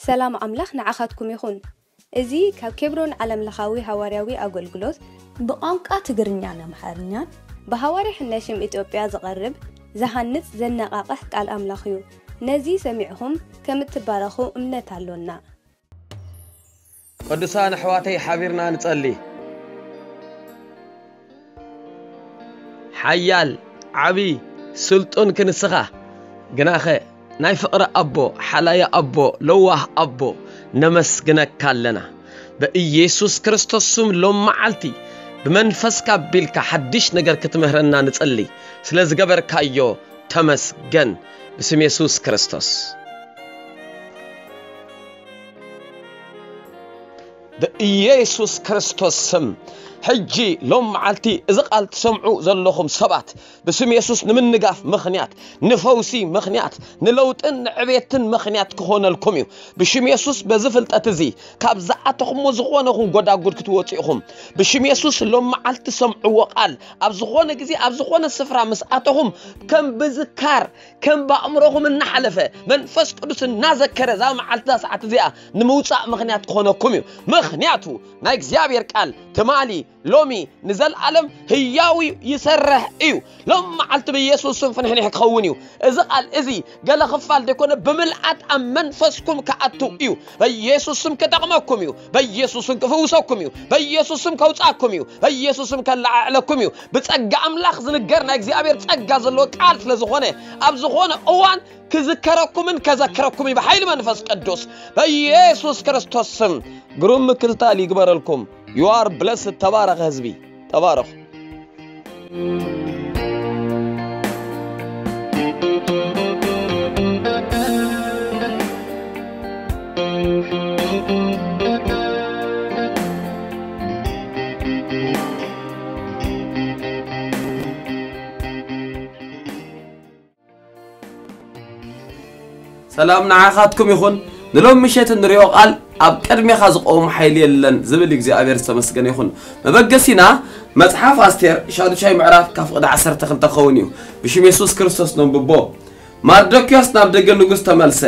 ሰላም ኣምላኽ ንዓኻትኩም ይኹን። እዚ ካብ ኬብሮን ዓለምለኻዊ ሃዋርያዊ ኣገልግሎት ብቋንቋ ትግርኛን ኣምሓርኛን ብሃዋርያ ሕነ ሽም ኢትዮጵያ ዝቐርብ ዝሃንጽ ዘነቓቕሕ ቃል ኣምላኽ እዩ። ነዚ ሰሚዕኹም ከም እትባረኹ እምነት ኣሎና። ቅዱሳን ኣሕዋተይ ሓቢርና ንጸሊ። ሓያል ዓቢ ስልጡን ክንስኻ ግናኸ ናይ ፍቕሪ ኣቦ ሓላዪ ኣቦ ለዋህ ኣቦ ነመስግነካ ኣለና። ብኢየሱስ ክርስቶስ ስም ሎም መዓልቲ ብመንፈስካ ኣቢልካ ሓድሽ ነገር ክትምህረና ንጸሊ። ስለ ዝገበርካዮ ተመስገን። ብስም የሱስ ክርስቶስ ብኢየሱስ ክርስቶስ ስም ሕጂ ሎም መዓልቲ እዚ ቃል ትሰምዑ ዘለኹም ሰባት ብስም የሱስ ንምንጋፍ ምኽንያት ንፈውሲ ምኽንያት ንለውጥን ንዕቤትን ምኽንያት ክኾነልኩም እዩ። ብሽም የሱስ በዚ ፍልጠት እዚ ካብ ዝኣተኹምዎ ዝኾነ ኹን ጎዳጉድ ክትወፁ ኢኹም። ብሽም የሱስ ሎም መዓልቲ ሰምዕዎ ቃል ኣብ ዝኾነ ግዜ ኣብ ዝኾነ ስፍራ ምስ ኣተኹም ከም ብዝካር ከም ብኣእምሮኹም እናሓለፈ መንፈስ ቅዱስ እናዘከረ እዛ መዓልቲ እዛ ሰዓት እዚኣ ንምውፃእ ምኽንያት ክኾነኩም እዩ። ምኽንያቱ ናይ እግዚኣብሔር ቃል ትማሊ ሎሚ ንዘለኣለም ህያው እዩ ይሰርሕ እዩ። ሎም መዓልቲ ብኢየሱስ ስም ፍንሕንሕ ክኸውን እዩ። እዚ ቃል እዚ ገለ ክፋል ደይኮነ ብምልኣት ኣብ መንፈስኩም ክኣቱ እዩ። በኢየሱስ ስም ክጠቕመኩም እዩ። በኢየሱስ ስም ክፍውሰኩም እዩ። በኢየሱስ ስም ከውፃኩም እዩ። በኢየሱስ ስም ከለዓዕለኩም እዩ። ብጸጋ ኣምላኽ ዝንገር ናይ እግዚኣብሔር ጸጋ ዘለዎ ቃል ስለ ዝኾነ ኣብ ዝኾነ እዋን ክዝከረኩምን ከዘክረኩም እዩ ብሓይሊ መንፈስ ቅዱስ በኢየሱስ ክርስቶስ ስም። ግሩም ምክትታል ይግበረልኩም። You are blessed። ተባረኸ ህዝቢ። ተባረኹ። ሰላም ንዓኻትኩም ይኹን። ንሎም ምሸት እንሪኦ ቃል ኣብ ቅድሜኻ ዝቆም ሓይሊ የለን ዝብል እግዚኣብሔር ዝተመስገነ ይኹን። መበገሲና መጽሓፍ ኣስቴር ሻዱሻይ ምዕራፍ ካብ ፍቕዲ ዓሰርተ ክልተ ክኸውን እዩ። ብሽም የሱስ ክርስቶስ ነንብቦ። ማርዶክዮስ ናብ ደገ ንጉስ ተመልሰ።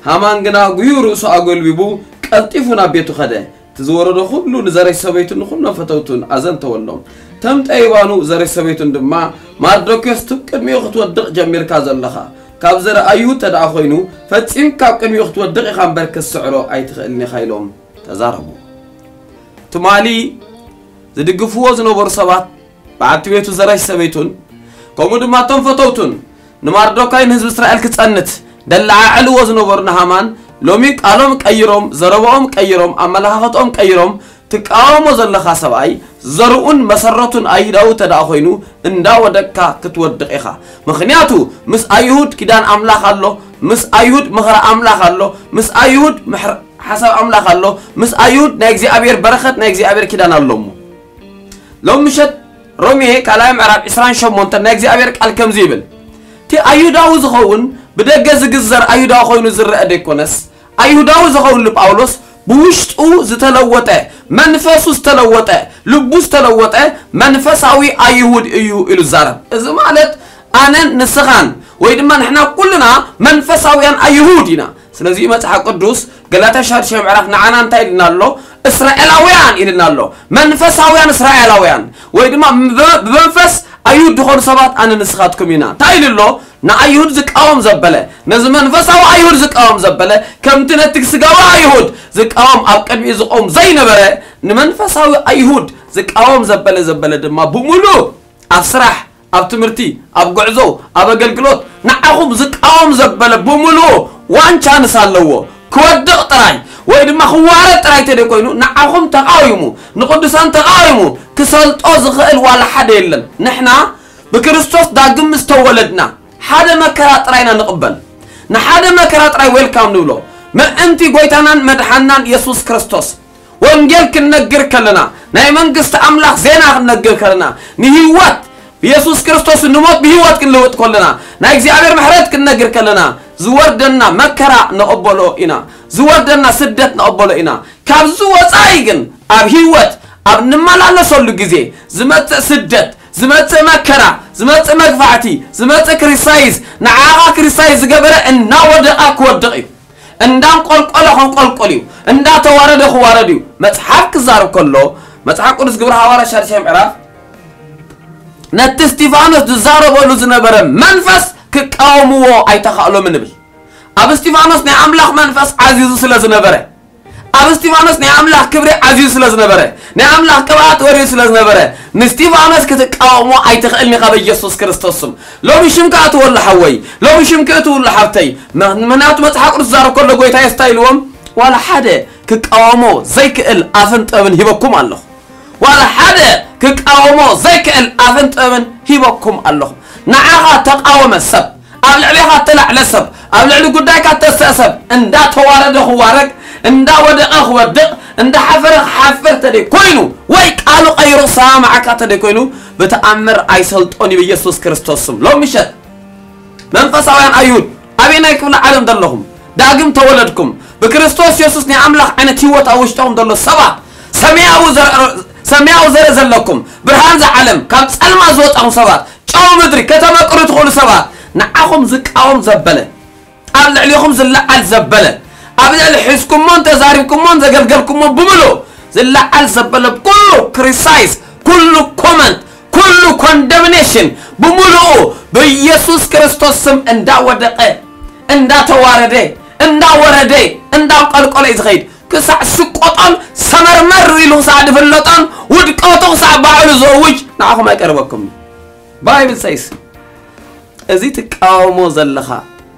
ሃማን ግና ጉዩ ርእሱ ኣጎልቢቡ ቀልጢፉ ናብ ቤቱ ኸደ። እቲ ዝወረዶ ኩሉ ንዘረሽ ሰበይቱን ንኹሎም ፈተውቱን ኣዘንተወሎም። ተም ጠይባኑ ዘረሽ ሰበይቱን ድማ ማርዶክዮስ ትብ ቅድሚኡ ክትወድቕ ጀሚርካ ዘለኻ ካብ ዘረ ኣይሁድ ተደኣ ኮይኑ ፈጺምካ ኣብ ቅድሚኡ ክትወድቕ ኢኻ እምበር ክትስዕሮ ኣይትኽእልን ኢኻ ኢሎም ተዛረቡ። ትማሊ ዝድግፍዎ ዝነበሩ ሰባት በዓልቲ ቤቱ ዘረሽ ሰበይቱን ከምኡ ድማ እቶም ፈተውቱን ንማርዶካይ ንህዝቢ እስራኤል ክጸንት ደለዓዕልዎ ዝነበሩ ንሃማን ሎሚ ቃሎም ቀይሮም ዘረባኦም ቀይሮም ኣመለኻኸትኦም ቀይሮም ትቃወሞ ዘለኻ ሰብኣይ ዘርኡን መሰረቱን ኣይሁዳዊ ተደኣ ኮይኑ እንዳወደቅካ ክትወድቕ ኢኻ። ምኽንያቱ ምስ ኣይሁድ ኪዳን ኣምላኽ ኣሎ፣ ምስ ኣይሁድ ምኽሪ ኣምላኽ ኣሎ፣ ምስ ኣይሁድ ምሕር ሓሳብ ኣምላኽ ኣሎ፣ ምስ ኣይሁድ ናይ እግዚኣብሔር በረኸት ናይ እግዚኣብሔር ኪዳን ኣሎ። እሞ ሎም ምሸት ሮሜ ካልኣይ ምዕራፍ ዕስራን ሸሞንተን ናይ እግዚኣብሔር ቃል ከምዚ ይብል፣ እቲ ኣይሁዳዊ ዝኸውን ብደገ ዝግዘር ኣይሁዳዊ ኮይኑ ዝረአ ደይኮነስ ኣይሁዳዊ ዝኸውን ኢሉ ጳውሎስ ብውሽጡ ዝተለወጠ መንፈሱ ዝተለወጠ ልቡ ዝተለወጠ መንፈሳዊ ኣይሁድ እዩ ኢሉ ዛረብ። እዚ ማለት ኣነን ንስኻን ወይ ድማ ንሕና ኩልና መንፈሳውያን ኣይሁድ ኢና። ስለዚ መጽሓፍ ቅዱስ ገላትያ ሻዱሻይ ምዕራፍ ንዓና እንታይ ኢልና ኣሎ? እስራኤላውያን ኢልና ኣሎ። መንፈሳውያን እስራኤላውያን ወይ ድማ ብመንፈስ ኣይሁድ ዝኾኑ ሰባት ኣነ ንስኻትኩም ኢና እንታይ ኢሉ ኣሎ? ንኣይሁድ ዝቃወም ዘበለ ነዚ መንፈሳዊ ኣይሁድ ዝቃወም ዘበለ ከምቲ ነቲ ስጋዊ ኣይሁድ ዝቃወም ኣብ ቅድሚኡ ዝቆም ዘይነበረ ንመንፈሳዊ ኣይሁድ ዝቃወም ዘበለ ዘበለ ድማ ብምሉእ ኣብ ስራሕ ኣብ ትምህርቲ ኣብ ጉዕዞ ኣብ ኣገልግሎት ንዓኹም ዝቃወም ዘበለ ብምሉኡ ዋን ቻንስ ኣለዎ። ክወድቕ ጥራይ ወይ ድማ ክዋረድ ጥራይ ተደ ኮይኑ ንዓኹም ተቃዊሙ ንቅዱሳን ተቃዊሙ ክሰልጦ ዝኽእል ዋላ ሓደ የለን። ንሕና ብክርስቶስ ዳግም ምስ ተወለድና ሓደ መከራ ጥራይ ኢና ንቕበል። ንሓደ መከራ ጥራይ ዌልካም ንብሎ። ምእንቲ ጎይታናን መድሓናን የሱስ ክርስቶስ ወንጌል ክንነግር ከለና ናይ መንግስቲ ኣምላኽ ዜና ክንነግር ከለና ንህይወት ብየሱስ ክርስቶስ ንሞት ብህይወት ክንልውጥ ከለና ናይ እግዚኣብሔር ምሕረት ክንነግር ከለና ዝወርደና መከራ ንቕበሎ ኢና። ዝወርደና ስደት ንቕበሎ ኢና። ካብዚ ወፃኢ ግን ኣብ ህይወት ኣብ ንመላለሰሉ ግዜ ዝመፅእ ስደት ዝመፅእ መከራ ዝመፅእ መግፋዕቲ ዝመፅእ ክሪሳይዝ ንዓኻ ክሪሳይዝ ዝገበረ እናወደቓ ክወድቕ እዩ። እንዳንቆልቆለ ከንቆልቆል እዩ፣ እንዳተዋረደ ክዋረድ እዩ። መጽሓፍ ክዛረብ ከሎ፣ መጽሓፍ ቅዱስ ግብረ ሃዋርያ ሻድሻይ ምዕራፍ፣ ነቲ እስጢፋኖስ ዝዛረበሉ ዝነበረ መንፈስ ክቃወምዎ ኣይተኻእሎምን ይብል። ኣብ እስጢፋኖስ ናይ ኣምላኽ መንፈስ ዓዚዙ ስለ ዝነበረ፣ ኣብ እስጢፋኖስ ናይ ኣምላኽ ክብሪ ዓዚዙ ስለ ዝነበረ፣ ናይ ኣምላኽ ቅብኣት ወሪዱ ስለ ዝነበረ፣ ንእስጢፋኖስ ክትቃወሞ ኣይትኽእልን ኢኻ በኢየሱስ ክርስቶስ ስም። ሎሚ ሽምካ እትወሉ ሓወይ፣ ሎሚ ሽምኪ እትውሉ ሓብተይ፣ ምኽንያቱ መጽሓፍ ቅዱስ ዝዛረብ ከሎ ጎይታ የሱስ እንታይ ኢልዎም? ዋላ ሓደ ክቃወሞ ዘይክእል ኣፍን ጥበብን ሂበኩም ኣለኹ። ዋላ ሓደ ክቃወሞ ዘይክእል ኣፍን ጥበብን ሂበኩም ኣለኹ። ንዓኻ ተቃወመ ሰብ፣ ኣብ ልዕሌኻ ተላዕለ ሰብ፣ ኣብ ልዕሊ ጉዳይካ ተሰእ ሰብ፣ እንዳተዋረደ ክዋረድ፣ እንዳወደቐ ክወድቕ፣ እንዳሓፈረ ክሓፍር ተደይ ኮይኑ፣ ወይ ቃሉ ቀይሩ ክሰማማዓካ ተደይ ኮይኑ፣ ብተኣምር ኣይሰልጦን እዩ ብኢየሱስ ክርስቶስ ስም። ሎም ምሸት መንፈሳውያን ኣይሁድ፣ ኣበየናይ ክፍለ ዓለም ዘለኹም፣ ዳግም ተወለድኩም፣ ብክርስቶስ የሱስ ናይ ኣምላኽ ዓይነት ህይወት ኣብ ውሽጥኹም ዘሎ ሰባት፣ ሰማያዊ ዘር-፣ ሰማያዊ ዘርኢ ዘለኩም፣ ብርሃን ዝዓለም፣ ካብ ጸልማ ዝወጻኹም ሰባት፣ ጨው ምድሪ፣ ከተመቅሩ ትኽእሉ ሰባት፣ ንዓኹም ዝቃወም ዘበለ፣ ኣብ ልዕሌኹም ዝለዓል ዘበለ፣ ኣብ ልዕሊ ሒዝኩሞን ተዛሪብኩሞን ዘገልገልኩሞ ብምሉእ ዝለዓል ዘበለ ኩሉ ክሪሳይስ፣ ኩሉ ኮመንት፣ ኩሉ ኮንደምኔሽን ብምሉኡ ብኢየሱስ ክርስቶስ ስም እንዳወደቐ፣ እንዳተዋረደ፣ እንዳወረደ፣ እንዳንቀልቀለ እዩ ዝኸይድ። ክሳዕ ስቆጦን ሰመርመር ኢሉ ክሳዕ ዝፍለጦን ውድቀቱ ክሳዕ ባዕሉ ዘውጅ ንዓኹም ኣይቀርበኩም። ባይብል ሰይስ፣ እዚ ትቃወሞ ዘለኻ፣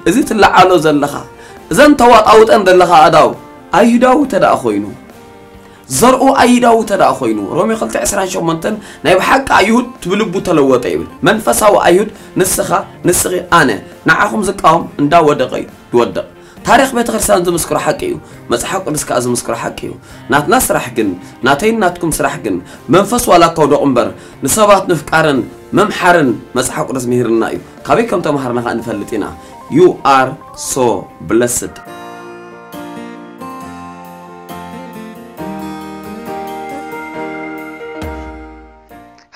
እዚ ትለዓሎ ዘለኻ፣ እዘን ተዋጣውጠን ዘለኻ ኣእዳው ኣይሁዳዊ ተደኣ ኮይኑ፣ ዘርኡ ኣይሁዳዊ ተደኣ ኮይኑ፣ ሮሜ ክልተ ዕስራን ሸሞንተን ናይ ብሓቂ ኣይሁድ ብልቡ ተለወጠ ይብል። መንፈሳዊ ኣይሁድ ንስኻ፣ ንስኺ፣ ኣነ፣ ንዓኹም ዝቃወም እንዳወደቐ እዩ ዝወድቕ። ታሪኽ ቤተ ክርስቲያን ዝምስክሮ ሓቂ እዩ። መጽሓፍ ቅዱስ ከኣ ዝምስክሮ ሓቂ እዩ። ናትና ስራሕ ግን፣ ናተይን ናትኩም ስራሕ ግን፣ መንፈስ ዋላ እኳ ውደቑ እምበር፣ ንሰባት ምፍቃርን ምምሓርን መጽሓፍ ቅዱስ ምሂርና እዩ። ካበይ ከም ተማሃርና ከኣ ንፈልጥ ኢና። You are so blessed።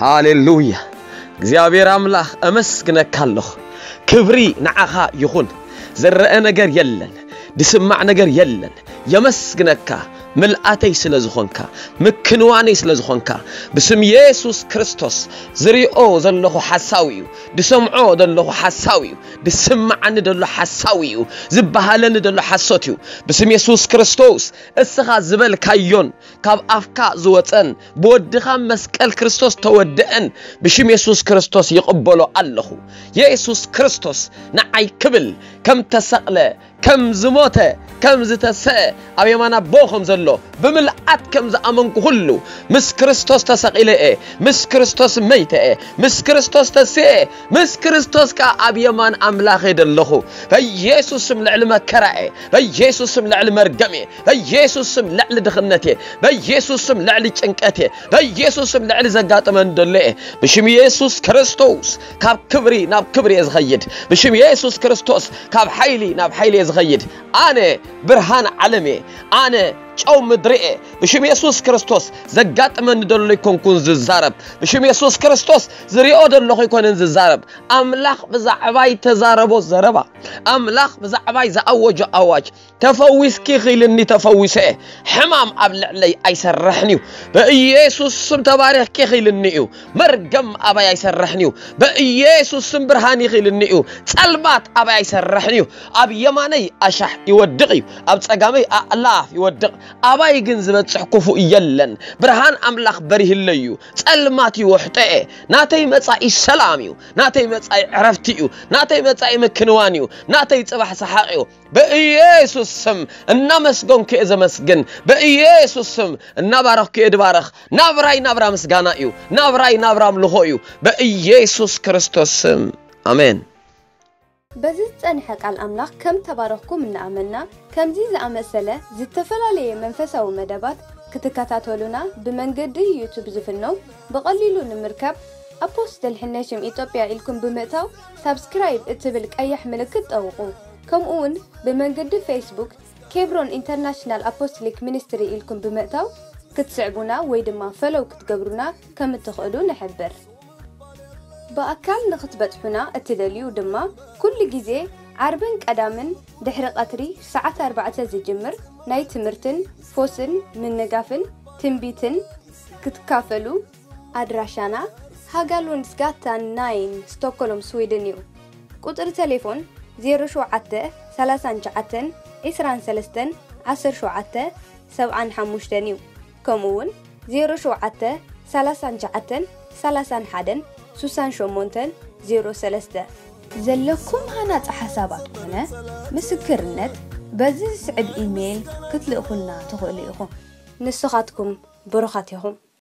ሃሌሉያ። እግዚኣብሔር ኣምላኽ፣ ኣመስግነካ ኣለኹ። ክብሪ ንዓኻ ይኹን። ዝረአ ነገር የለን፣ ዝስማዕ ነገር የለን። የመስግነካ፣ ምልኣተይ ስለ ዝኾንካ፣ ምክንዋነይ ስለ ዝኾንካ። ብስም የሱስ ክርስቶስ፣ ዝሪኦ ዘለኹ ሓሳዊ እዩ፣ ዝሰምዖ ዘለኹ ሓሳዊ እዩ፣ ዝስምዓኒ ዘሎ ሓሳዊ እዩ፣ ዝበሃለኒ ዘሎ ሓሶት እዩ። ብስም የሱስ ክርስቶስ፣ እስኻ ዝበልካዮን ካብ ኣፍካ ዝወጸን ብወድኻ መስቀል ክርስቶስ ተወደአን ብሽም የሱስ ክርስቶስ ይቕበሎ ኣለኹ። የሱስ ክርስቶስ ንዓይ ክብል ከም ተሰቕለ፣ ከም ዝሞተ፣ ከም ዝተሰአ፣ ኣብ የማን ኣቦ ከም ዘሎ ብምልኣት ከም ዝኣመንኩ ኩሉ፣ ምስ ክርስቶስ ተሰቒለ እየ፣ ምስ ክርስቶስ መይተ እየ፣ ምስ ክርስቶስ ተስየ እየ፣ ምስ ክርስቶስ ከኣ ኣብ የማን ኣምላኽ እየ ዘለኹ። በኢየሱስ ስም ልዕሊ መከራ እየ፣ በኢየሱስ ስም ልዕሊ መርገም እየ፣ በኢየሱስ ስም ልዕሊ ድኽነት እየ፣ በኢየሱስ ስም ልዕሊ ጭንቀት እየ፣ በኢየሱስ ስም ልዕሊ ዘጋጥመኒ ዘሎ እየ። ብሽም የሱስ ክርስቶስ ካብ ክብሪ ናብ ክብሪ እየ ዝኸይድ። ብሽም የሱስ ክርስቶስ ካብ ሓይሊ ናብ ሓይሊ እየ ዝኸይድ። ኣነ ብርሃን ዓለም እየ። ኣነ ጨው ምድሪ እየ። ብሽም የሱስ ክርስቶስ ዘጋጥመኒ ዘሎ ኣይኮንኩን ዝዛረብ። ብሽም የሱስ ክርስቶስ ዝሪኦ ዘለኹ ኣይኮነን ዝዛረብ። ኣምላኽ ብዛዕባይ ተዛረቦ ዘረባ፣ ኣምላኽ ብዛዕባይ ዝኣወጆ ኣዋጅ፣ ተፈዊስኪ ኺልኒ ተፈዊሰ እየ። ሕማም ኣብ ልዕለይ ኣይሰርሕን እዩ። ብኢየሱስ ስም ተባሪኽኪ ኺልኒ እዩ። መርገም ኣባይ ኣይሰርሕን እዩ። ብኢየሱስ ስም ብርሃን ይኺልኒ እዩ። ጸልማት ኣባይ ኣይሰርሕን እዩ። ኣብ የማነይ ኣሻሕ ይወድቕ እዩ። ኣብ ጸጋመይ ኣእላፍ ይወድቕ። ኣባይ ግን ዝበጽሕ ክፉእ የለን። ብርሃን ኣምላኽ በሪህለይ እዩ። ጸልማት ይውሕጦ እየ። ናተይ መጻኢ ሰላም እዩ። ናተይ መጻኢ ዕረፍቲ እዩ። ናተይ መጻኢ ምክንዋን እዩ። ናተይ ጽባሕ ሰሓቕ እዩ። ብኢየሱስ ስም እናመስገንኩ እየ ዘመስግን። ብኢየሱስ ስም እናባረኽኩ እየ ድባረኽ። ናብራይ ናብራ ምስጋና እዩ። ናብራይ ናብራ ኣምልኾ እዩ። ብኢየሱስ ክርስቶስ ስም ኣሜን። በዚ ዝጸንሐ ቃል ኣምላኽ ከም ተባረኽኩም እናኣመንና፣ ከምዚ ዝኣመሰለ ዝተፈላለየ መንፈሳዊ መደባት ክትከታተሉና ብመንገዲ ዩቱብ ዝፍኖ ብቐሊሉ ንምርካብ ኣፖስትል ሕነሽም ኢትዮጵያ ኢልኩም ብምእታው ሳብስክራይብ እትብል ቀያሕ ምልክት ጠውቑ። ከምኡ እውን ብመንገዲ ፌስቡክ ኬብሮን ኢንተርናሽናል ኣፖስትሊክ ሚኒስትሪ ኢልኩም ብምእታው ክትስዕቡና ወይ ድማ ፈሎው ክትገብሩና ከም እትኽእሉ ንሕብር። ብኣካል ንኽትበጽሑና እትደልዩ ድማ ኩሉ ግዜ ዓርብን ቀዳምን ድሕሪ ቀትሪ ሰዓት ኣርባዕተ ዝጅምር ናይ ትምህርትን ፎስን ምንጋፍን ትንቢትን ክትካፈሉ። ኣድራሻና ሃጋሉንድስጋታን ናይን፣ ስቶኮሎም፣ ስዊድን እዩ። ቁጽሪ ቴሌፎን ዜሮ ሸውዓተ ሰላሳን ትሽዓተን ዒስራን ሰለስተን ዓሰርተ ሸውዓተ ሰብዓን ሓሙሽተን እዩ። ከምኡ እውን ዜሮ ሸውዓተ ሰላሳን ትሽዓተን ሰላሳን ሓደን ስሳን ሸሞንተን ዜሮ ሰለስተ። ዘለኩም ሃናጺ ሓሳባት ኮነ ምስክርነት በዚ ዝስዕብ ኢሜይል ክትልእኹልና ትኽእሉ ኢኹም። ንስኻትኩም ብሩኻት ኢኹም።